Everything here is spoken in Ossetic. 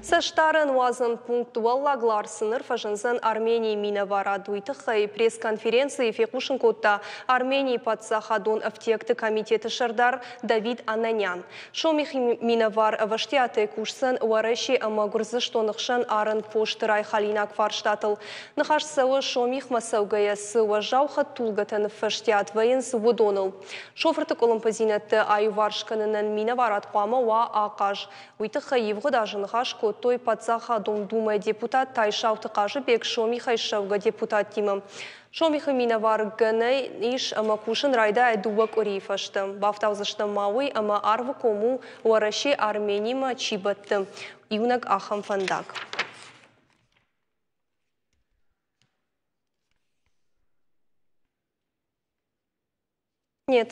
Цӕстдарӕн уадзӕн пункт Уӕллаг Ларсы ныр фӕзындзӕн Арменийы минӕварад. Уый тыххӕй пресс-конференцийы фехъусын кодта Арменийы паддзахадон ӕфтиӕгты комитеты сӕрдар Давид Ананян. Сомихы минӕвар ӕвӕстиатӕй кусдзӕн Уӕрӕсе ӕмӕ Гуырдзыстоны хсӕн арӕн посты райхалинаг фарстатыл. Ныхас цӕуы, Сомихмӕ цӕугӕйӕ цы уӕззау хӕдтулгӕтӕ ныффӕстиат вӕййынц, уыдоныл. Шофырты къуылымпыдзинӕдты аиуварс кӕнынӕн минӕварад хъуамӕ уа ахъаз. Уый тыххӕй ивгъуыд азы ныхас кодтой Паддзахадон Думӕйы депутат Тайсауты Хъазыбег Сомихӕй ссӕугӕ депутаттимӕ. Сомихы минӕвар гӕнӕн ис ӕмӕ кусын райдайа дыууӕ къуырийы фӕстӕ. Бафтаудзыстӕм ма уый, ӕмӕ Арвыком у, Уӕрӕсе Арменимӕ чи бӕтты, иунӕг ахӕм фӕндаг. Нет.